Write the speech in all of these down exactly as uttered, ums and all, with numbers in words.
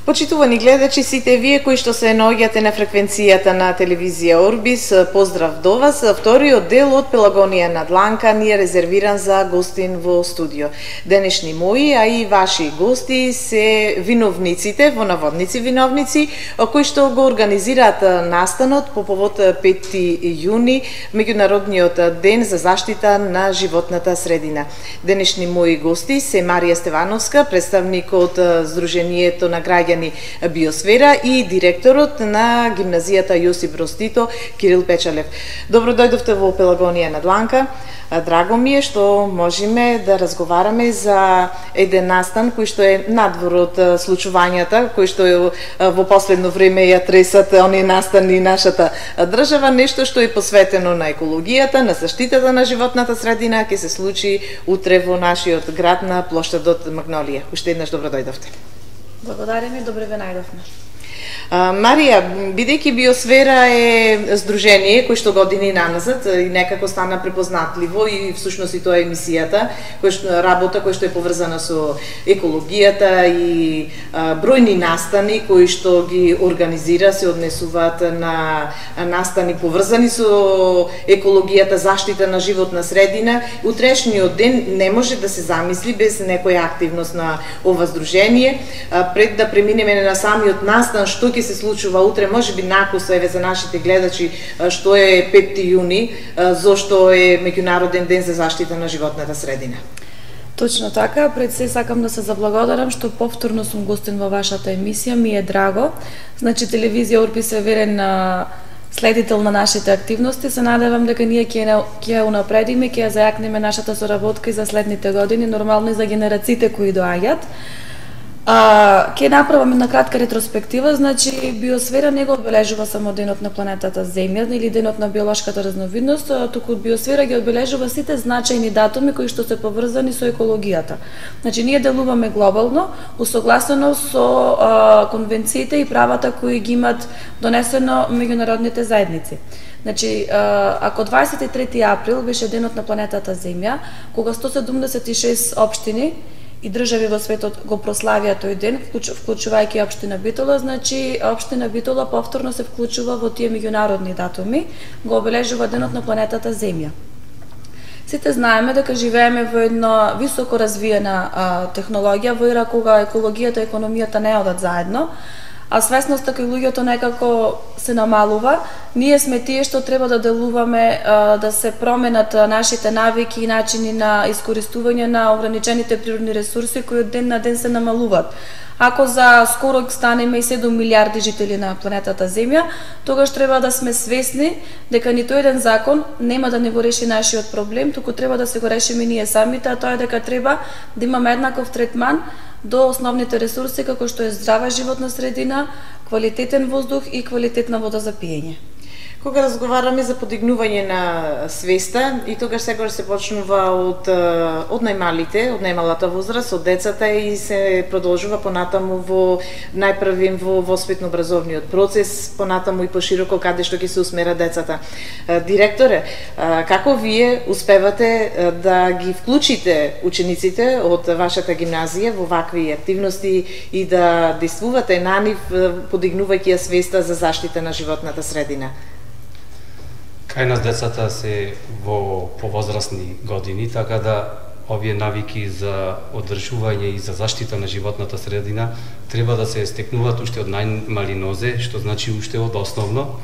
Почитувани гледачи, сите вие кои што се наоѓате на фреквенцијата на телевизија Орбис, поздрав до вас. Вториот дел од Пелагонија на дланка ни е резервиран за гостин во студио. Денешни мои, а и ваши гости се виновниците, во наводници виновници, кои што го организираат настанот по повод пети јуни, меѓународниот ден за заштита на животната средина. Денешни мои гости се Марија Стевановска, представник од Сдруженијето на граѓани Биосфера и директорот на гимназијата Јосип Броз Тито Кирил Печалев. Добро дојдовте во Пелагонија на дланка. Драго ми е што можеме да разговараме за еден настан кој што е надвор од случувањата, кој што во последно време ја тресат оние настани нашата држава, нешто што е посветено на екологијата, на заштитата на животната средина, ќе се случи утре во нашиот град на плоштадот Магнолија. Уште еднаш добро дојдовте. Благодариме, добре ве најдовме. Марија, бидејќи Биосфера е здружение кој што години наназад и некако стана препознатливо и всушност и тоа е емисијата, кој што работа кој што е поврзана со екологијата и а, бројни настани кои што ги организира, се однесуваат на настани поврзани со екологијата, заштита на животна средина. Утрешниот ден не може да се замисли без некоја активност на ова здружение. А, пред да преминеме на самиот настан, што ќе се случува утре, можеби накуса еве за нашите гледачи што е пети јуни, зошто е меѓународен ден за заштита на животната средина. Точно така, пред се сакам да се заблагодарам што повторно сум гостин во вашата емисија, ми е драго. Значи телевизија Орбис е верен на следител на нашите активности, се надевам дека ние ќе ќе унапредиме, ќе ја зајакнеме нашата соработка и за следните години, нормално и за генерациите кои доаѓаат. А, ке направаме на кратка ретроспектива, значи Биосфера не го одбележува само денот на планетата Земја или денот на биолошката разновидност, туку Биосфера ги одбележува сите значајни датуми кои што се поврзани со екологијата. Значи ние делуваме глобално, усогласено со а, конвенциите и правата кои ги имат донесено меѓународните заедници. Значи, ако дваесет и трети април беше денот на планетата Земја, кога сто седумдесет и шест општини и држави во светот го прославија тој ден, вклучувајќи општина Битола, значи општина Битола повторно се вклучува во тие меѓународни датуми, го обележува денот на планетата Земја. Сите знаеме дека живееме во една високо развиена а, технологија, во ера кога екологијата и економијата не одат заедно, а свесноста кај луѓето некако се намалува. Ние сме тие што треба да делуваме да се променат нашите навики и начини на искористување на ограничените природни ресурси кои од ден на ден се намалуваат. Ако за скоро станеме и седум милиарди жители на планетата Земја, тогаш треба да сме свесни дека ниту еден закон нема да не го реши нашиот проблем, туку треба да се го решиме ние самите, а тоа е дека треба да имаме еднаков третман до основните ресурси како што е здрава животна средина, квалитетен воздух и квалитетна вода за пиење. Кога разговараме за подигнување на свеста, и тогаш секогаш се почнува од од најмалите, од најмалата возраст, од децата и се продолжува понатаму во најпрвим во воспитно-образовниот процес, понатаму и пошироко каде што ќе се усмера децата. Директоре, како вие успевате да ги вклучите учениците од вашата гимназија во вакви активности и да действувате на нив подигнувајќи ја свеста за заштита на животната средина? Кај нас децата се во повозрастни години, така да овие навики за одржување и за заштита на животната средина треба да се стекнуваат уште од најмали нозе, што значи уште од основно,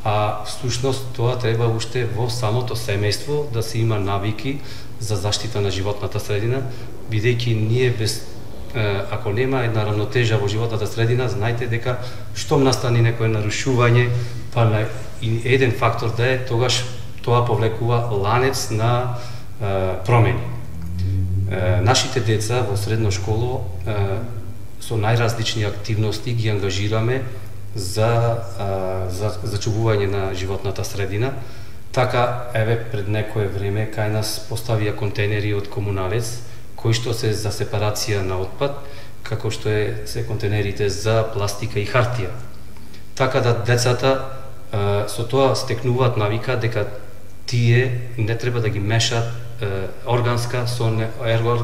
а всушност тоа треба уште во самото семејство да се има навики за заштита на животната средина, бидејќи ние без ако нема една равнотежа во животната средина, знаете дека штом настани некое нарушување, па на и еден фактор да е, тогаш тоа повлекува ланец на е, промени. Е, нашите деца во средно школо е, со најразлични активности ги ангажираме за е, за зачувување на животната средина. Така, еве, пред некое време кај нас поставија контейнери од комуналец, кои што се за сепарација на отпад, како што е се контейнерите за пластика и хартија. Така да децата со тоа стекнуваат навика дека тие не треба да ги мешаат органска со не,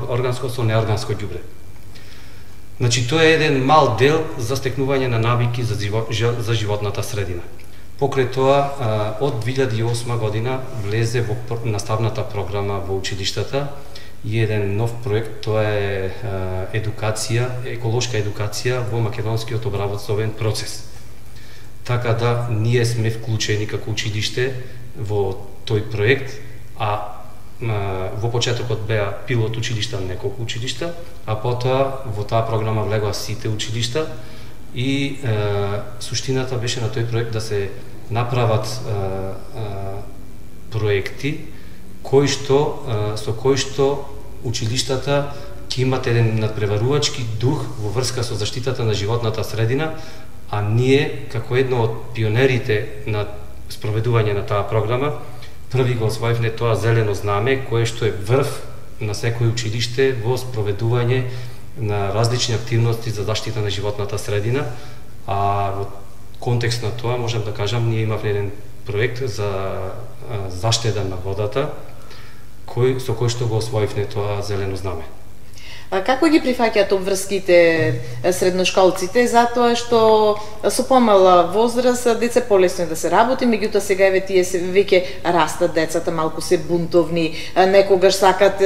органско со неорганско ѓубре. Значи, тоа е еден мал дел за стекнување на навики за, живот, за животната средина. Покрај тоа, од две илјади и осма година влезе во наставната програма во училиштата и еден нов проект, тоа е едукација, еколошка едукација во македонскиот обработствен процес. Така да, ние сме вклучени како училиште во тој проект, а во почетокот беа пилот училишта неколку училишта, а потоа во таа програма влегоа сите училишта и е, суштината беше на тој проект да се направат е, е, проекти кои што е, со кои што училиштата ќе имат еден надпреварувачки дух во врска со заштитата на животната средина, а ние како едно од пионерите на спроведување на таа програма први го освоивме тоа зелено знаме, кое што е врв на секој училиште во спроведување на различни активности за заштита на животната средина, а во контекст на тоа можам да кажам, ние имавме еден проект за заштеда на водата, кој, со кој што го освоивме тоа зелено знаме. А како ги прифаќаат обврските средношколците, затоа што со помала возраст деца полесно да се работи, меѓутоа сега еве тие се веќе растат децата, малку се бунтовни, некогаш сакат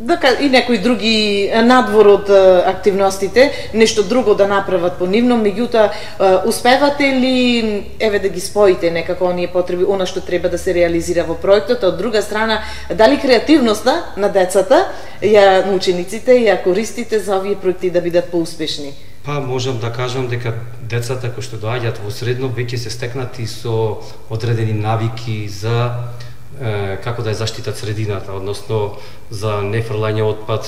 да и некои други надвор од активностите, нешто друго да направат по нивно, меѓутоа успевате ли еве да ги споите некако оние потреби, она што треба да се реализира во проектот, од друга страна дали креативноста на децата, ја на учениците ја користите за овие проекти да бидат поуспешни? Па можам да кажам дека децата кои што доаѓаат во средно веќе се стекнати со одредени навики за како да ја заштитат средината, односно за нефрлање отпад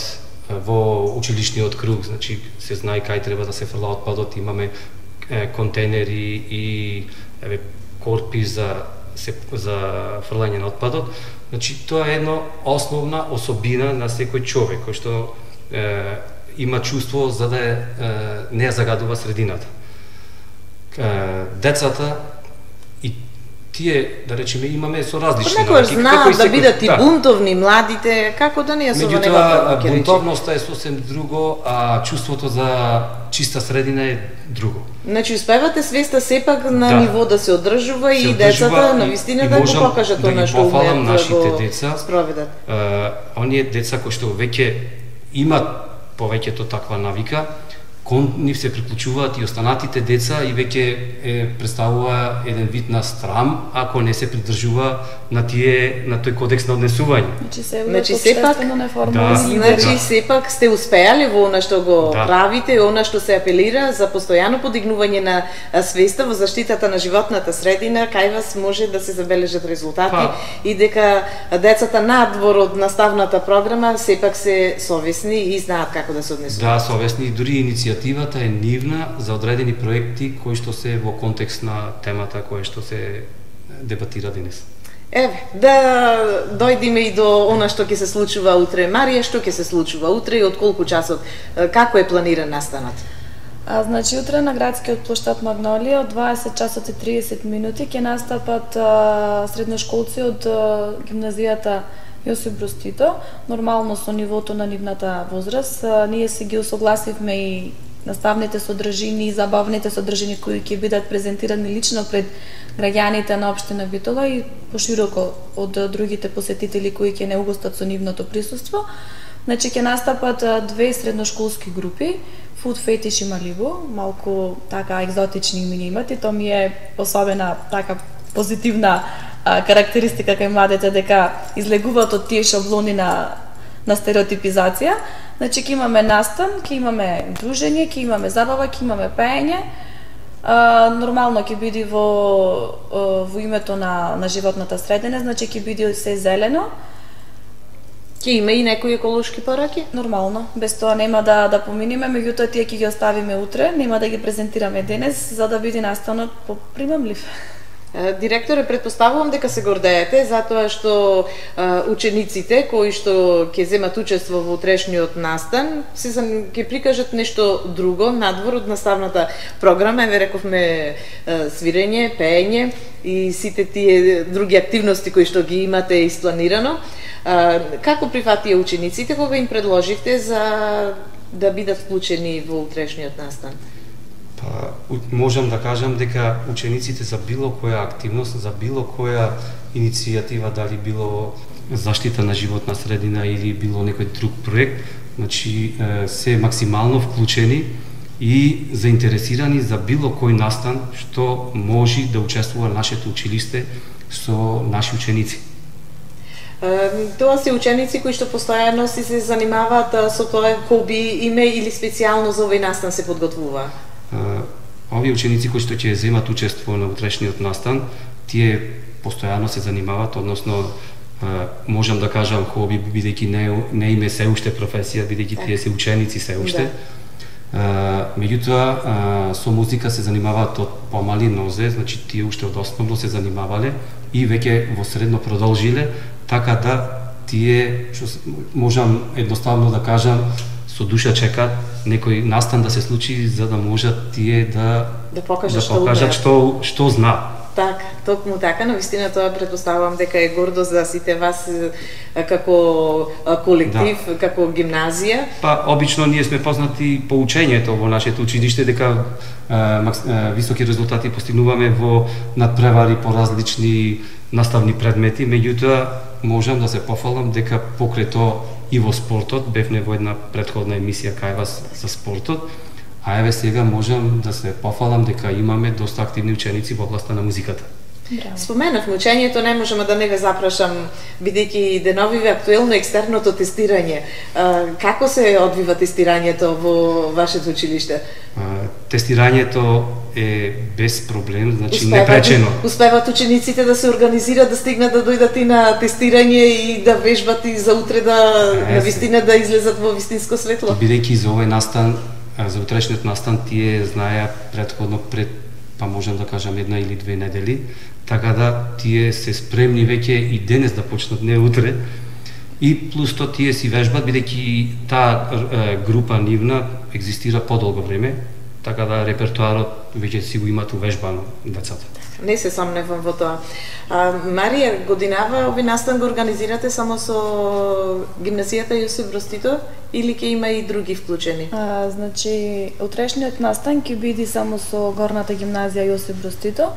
во училишниот круг, значи се знае кај треба да се фрла отпадот, имаме е, контейнери и еве корпи за се, за фрлање на отпадот. Значи тоа е една основна особина на секој човек кој што е, има чувство за да е, не ја загадува средината. Е, децата и тие, да речеме, имаме со различни навики. Знаат да бидат и бунтовни младите, како да не ја со меѓутоа, бунтовноста е сосем друго, а чувството за чиста средина е друго. Значи, успевате свеста сепак на да. ниво да се одржува и децата на вистина да го покажат да она што умеат нашите да го деца, спроведат. Uh, оние деца кои што веќе имат повеќето таква навика, кон нив се приклучуваат и останатите деца и веќе е представува еден вид на страм ако не се придржува на тие на тој кодекс на однесување. Значи се значи сепак неформално. Да, значи да. сепак сте успеали во она што го да. правите, она што се апелира за постојано подигнување на свеста во заштитата на животната средина, кај вас може да се забележат резултати па. И дека децата надвор од наставната програма сепак се совесни и знаат како да се однесуваат. Да, совесни, дури иницијативата е нивна за одредени проекти кои што се во контекст на темата која што се дебатира денес. Еве, да дојдеме и до она што ќе се случува утре. Марија, што ќе се случува утре и од колку часот? Како е планиран настанот? А, значи, утре на градскиот плоштад Магнолија од дваесет часот и триесет минути ќе настапат а, средношколци од а, гимназијата Јосип Брз Тито, нормално со нивото на нивната возраст. А, ние се ги усогласивме и наставните содржини и забавните содржини кои ќе бидат презентирани лично пред граѓаните на општина Битола и пошироко од другите посетители кои ќе не угостат со нивното присуство. Значи ќе настапат две средношколски групи, Food Fetish и Малибу, малку така екзотични имиња имат и тоа ми е особена така позитивна а, карактеристика кај младите дека излегуваат од тие шаблони на на стереотипизација. Значи ќе имаме настан, ќе имаме дружење, ќе имаме забава, ќе имаме пеење. Uh, нормално ќе биде во uh, во името на на животната средина, значи ќе биде се зелено. Ќе има и некои еколошки пораки? Нормално, без тоа нема да да поминеме, меѓутоа тие ќе ги оставиме утре, нема да ги презентираме денес за да биде настанот попримамлив. Директоре, предпоставувам дека се гордеете затоа што а, учениците кои што ќе земат учество во утрешниот настан се ќе прикажат нешто друго надвор од наставната програма. Еве рековме а, свирење, пеење и сите тие други активности кои што ги имате испланирано. А, како прифатија учениците кога им предложивте за да бидат вклучени во утрешниот настан? Па, можам да кажам дека учениците за било која активност, за било која иницијатива, дали било заштита на животна средина или било некој друг проект, значи се максимално вклучени и заинтересирани за било кој настан што може да учествува нашето училиште со наши ученици. Тоа се ученици кои што постојано си се занимаваат со тоа хоби, име или специјално за овој настан се подготвува? Овие ученици кои што ќе земат учество на утрешниот настан, тие постојано се занимаваат, односно можам да кажам хоби, бидејќи не, не име се уште професија, бидејќи тие се ученици се уште. Да. Меѓутоа, со музика се занимаваат од помали нозе, значи тие уште од основно се занимавале и веќе во средно продолжиле, така да тие, што можам едноставно да кажам, со душа чекаат некој настан да се случи за да можат тие да да покажат, да покажат што, што знаат. Така, токму така, навистина тоа претпоставувам дека е гордост за сите вас како колектив, да. Како гимназија. Па, обично ние сме познати по учењето во нашето училиште, дека е, високи резултати постигнуваме во надпревари по различни наставни предмети, меѓутоа можам да се пофалам дека покрај тоа и во спортот, бевме во една претходна емисија кај вас за спортот, а еве сега можам да се пофалам дека имаме доста активни ученици во областа на музиката. Браво. Споменавме учењето, не можам да не ве запрашам, бидејќи деновиве актуелно екстерното тестирање. Како се одвива тестирањето во вашето училиште? Тестирањето е без проблем, значи успеват, непречено. Успеват учениците да се организираат, да стигнат да дојдат и на тестирање и да вежбат и за утре да навистина да излезат во вистинско светло? Бидејќи за овој настан, за утрешниот настан тие знаеа претходно пред, па можам да кажам една или две недели, така да тие се спремни веќе и денес да почнат, не утре. И плюс тоа тие си вежбат, бидејќи таа група нивна екзистира подолго време, така да репертоарот веќе си го имат увежбано децата. Не се сомневам во тоа. А, Марија, годинава овој настан го организирате само со гимназијата Јосип Броз Тито или ќе има и други вклучени? А, значи, утрешниот настан ќе биде само со горната гимназија Јосип Броз Тито.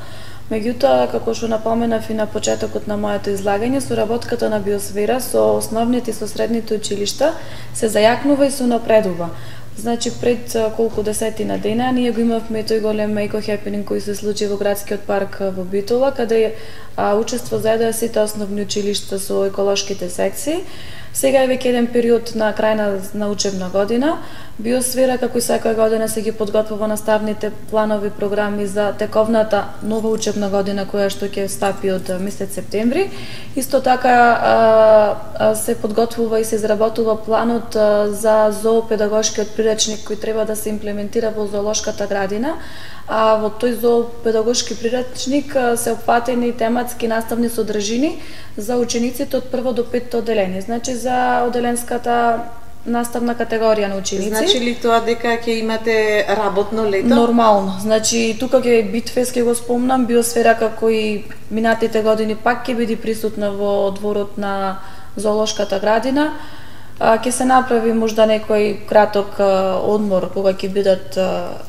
Меѓутоа, како што напоменав и на почетокот на моето излагање, соработката на Биосфера со основните и со средните училишта се зајакнува и се напредува. Значи, пред колку десетина дена ние го имавме тој голем еко-хепенинг кој се случи во градскиот парк во Битола, каде а, учество заедаа сите основни училишта со еколошките секции. Сега е веќе еден период на крај на, на учебна година. Биосфера, како и секоја година, се ги подготвува наставните планови програми за тековната нова учебна година, која што ќе стапи од месец септември. Исто така а, а, се подготвува и се изработува планот а, за зоопедагошкиот приречник кој треба да се имплементира во зоолошката градина. А во тој зоопедагошки приречник се опфатени тематски наставни содржини за учениците од прво до петто одделение. Значи за одделенската наставна категорија на ученици. Значи ли тоа дека ќе имате работно лето? Нормално. Значи тука ќе Битфест, ќе го спомнам, Биосфера како и минатите години пак ќе биде присутна во дворот на зоолошката градина. Ќе се направи можда некој краток одмор кога ќе бидат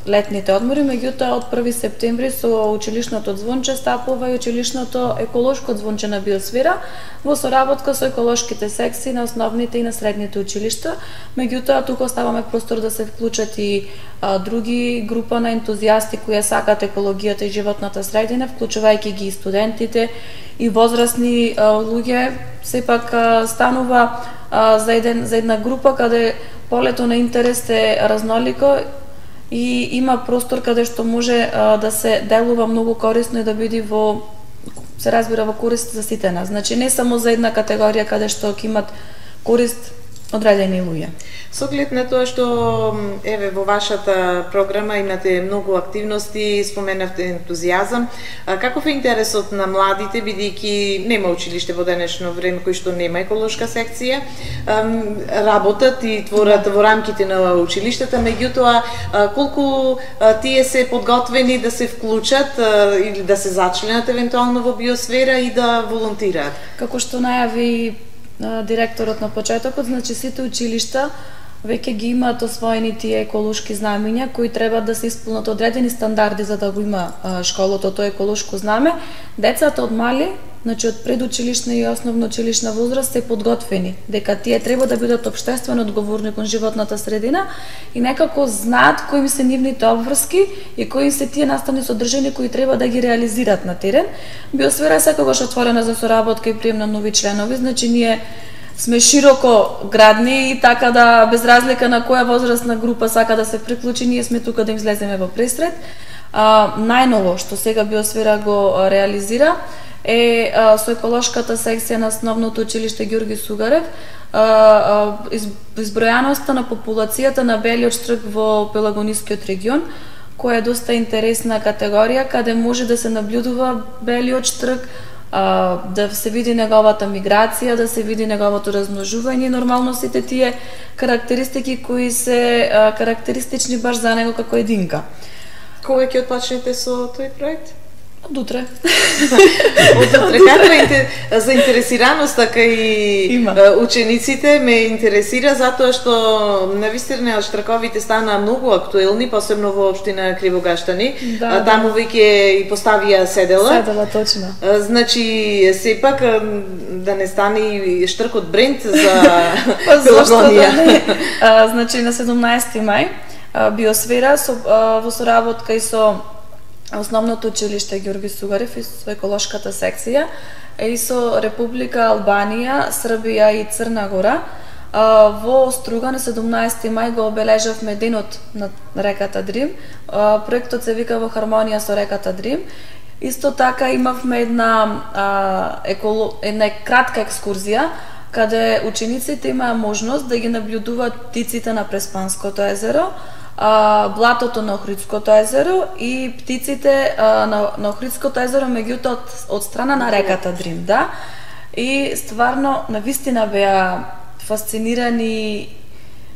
летните одмори, меѓутоа од први септември со училишното звонче стапува и училишното еколошко звонче на Биосфера во соработка со еколошките секции на основните и на средните училишта. Меѓутоа тука оставаме простор да се вклучат и а, други група на ентузијасти кои сакаат екологијата и животната средина, вклучувајќи ги и студентите и возрастни а, луѓе. Сепак а, станува а, за еден за една група каде полето на интерес е разнолико и има простор каде што може а, да се делува многу корисно и да биде во се разбира во корист за сите нас. Значи не само за една категорија каде што ќе имат корист одредени луѓе. Со оглед на тоа што еве во вашата програма имате многу активности, споменавте ентузијазам, каков е интересот на младите, бидејќи нема училиште во денешно време кој што нема еколошка секција, работат и творат во рамките на училиштата, меѓутоа колку тие се подготвени да се вклучат или да се зачленат евентуално во Биосфера и да волонтираат? Како што најави директорот на почетокот, значи сите училишта веќе ги имаат освоени тие еколошки знамења кои треба да се исполнат одредени стандарди за да го има школото тоа еколошко знаме. Децата од мали, значи од предучилишна и основно училишна возраст се подготвени дека тие треба да бидат општествено одговорни кон животната средина и некако знаат кои им се нивните обврски и кои се тие наставни содржини кои треба да ги реализираат на терен. Биосфера е секогаш отворена за соработка и прием на нови членови, значи ние сме широко градни и така да без разлика на која возрастна група сака да се приклучи, ние сме тука да им излеземе во пресред. А, најново што сега Биосфера го реализира е а, со еколошката секција на основното училиште Ѓурги Сугарев, а, а, из, избројаноста на популацијата на белиот штрк во Пелагонискиот регион, која е доста интересна категорија, каде може да се наблюдува белиот штрк, а, да се види неговата миграција, да се види неговото размножување и нормално сите тие карактеристики кои се а, карактеристични баш за него како единка. Кога ќе отпочнете со тој проект? Од утре. Од утре. Каква е заинтересираноста кај учениците ме интересира затоа што навистина штрковите стана многу актуелни, посебно во општина Кривогаштани. Да, таму веќе и поставија седела. Седела, точно. Значи, сепак да не стане и штркот бренд за Пелагонија. Да не? А, значи, на седумнаесети мај Биосфера со, а, во соработка и со основното училиште Ѓурги Сугарев и со еколошката секција и со Република Албанија, Србија и Црна Гора во Струга на седумнаесети мај го обележавме денот на реката Дрим. Проектот се вика Во хармонија со реката Дрим. Исто така имавме една а, еколо... една кратка екскурзија каде учениците имаа можност да ги наблюдуваат птиците на Преспанското езеро, блатото на Охридското езеро и птиците а, на, на Охридското езеро, меѓутоа од, од страна на реката Дрим, да. И стварно, навистина беа фасцинирани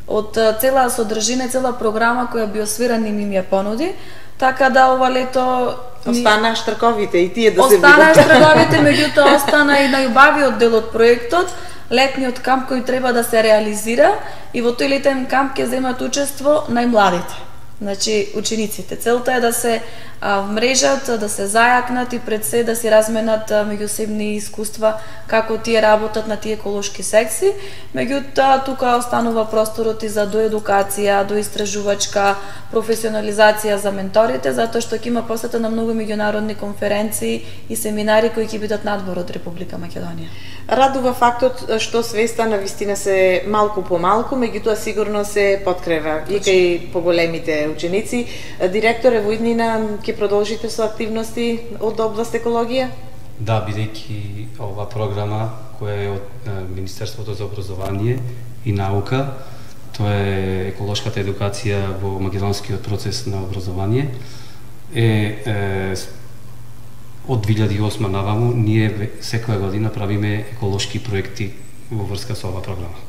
од цела содржина, цела програма која Биосфера ни им ја понуди, така да ова лето остана штрковите и тие да се видат. Остана штрковите, меѓутоа остана и најубавиот дел од проектот, летниот камп кој треба да се реализира, и во тој летен камп ќе земат учество најмладите, значи учениците. Целта е да се а, вмрежат, да се зајакнат и пред се да си разменат меѓусебни искуства како тие работат на тие еколошки секции. Меѓутоа тука останува просторот и за доедукација, доистражувачка професионализација за менторите, затоа што ќе има посета на многу меѓународни конференции и семинари кои ќе бидат надвор од Република Македонија. Радува фактот што свеста на вистина се малку по малку, меѓутоа сигурно се подкрива и кај поголемите ученици. Директоре, во иднина ќе продолжите со активности од област екологија? Да, бидејќи ова програма која е од Министерството за образование и наука, тоа е еколошката едукација во македонскиот процес на образование, е, е од две илјади и осма наваму ние секоја година правиме еколошки проекти во врска со оваа програма.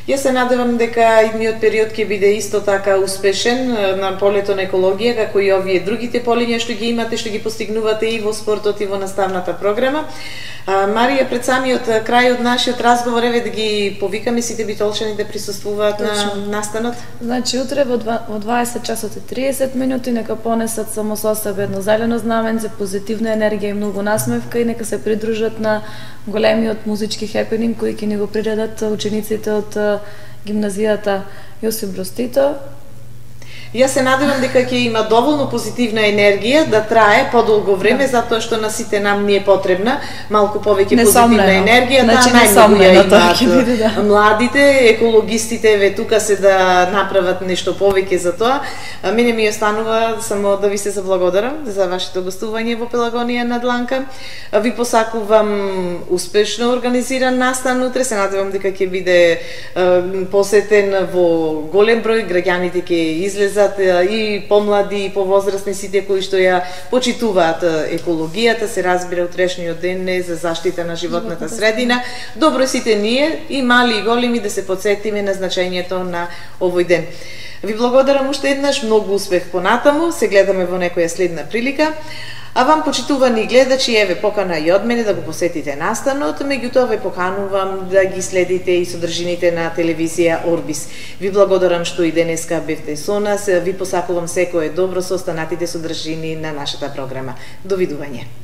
Јас се надевам дека идниот период ќе биде исто така успешен на полето на екологија, како и овие другите полиња што ги имате, што ги постигнувате и во спортот и во наставната програма. А, Марија, пред самиот крај од нашиот разговор, еве да ги повикаме сите битолчани да присуствуваат на настанот. Значи, утре во дваесет часот и триесет минути нека понесат само со себе едно зелено знаменце, позитивна енергија и многу насмевка и нека се придружат на големиот музички хепенинг кој ќе ни го приредат учениците од гимназијата Јосип Броз Тито. Јас се надевам дека ќе има доволно позитивна енергија да трае подолго време, да. Затоа што на сите нам ни е потребна малку повеќе позитивна енергија, значи, да најмногу ја имаат да. Младите, екологистите ве тука се да направат нешто повеќе за тоа. Мене ми останува само да ви се заблагодарам за вашето гостување во Пелагонија на Дланка. Ви посакувам успешно организиран настан утре, се надевам дека ќе биде посетен во голем број, граѓаните ќе излезат и помлади и повозрасни, сите кои што ја почитуваат екологијата, се разбира утрешниот ден е за заштита на животната средина. Добро сите ние, и мали и големи, да се потсетиме на значењето на овој ден. Ви благодарам уште еднаш, многу успех понатаму, се гледаме во некоја следна прилика. А вам, почитувани гледачи, еве покана и од мене да го посетите настанот, меѓутоа ве поканувам да ги следите и содржините на телевизија Орбис. Ви благодарам што и денеска бевте со нас, ви посакувам секое добро со останатите содржини на нашата програма. Довидување.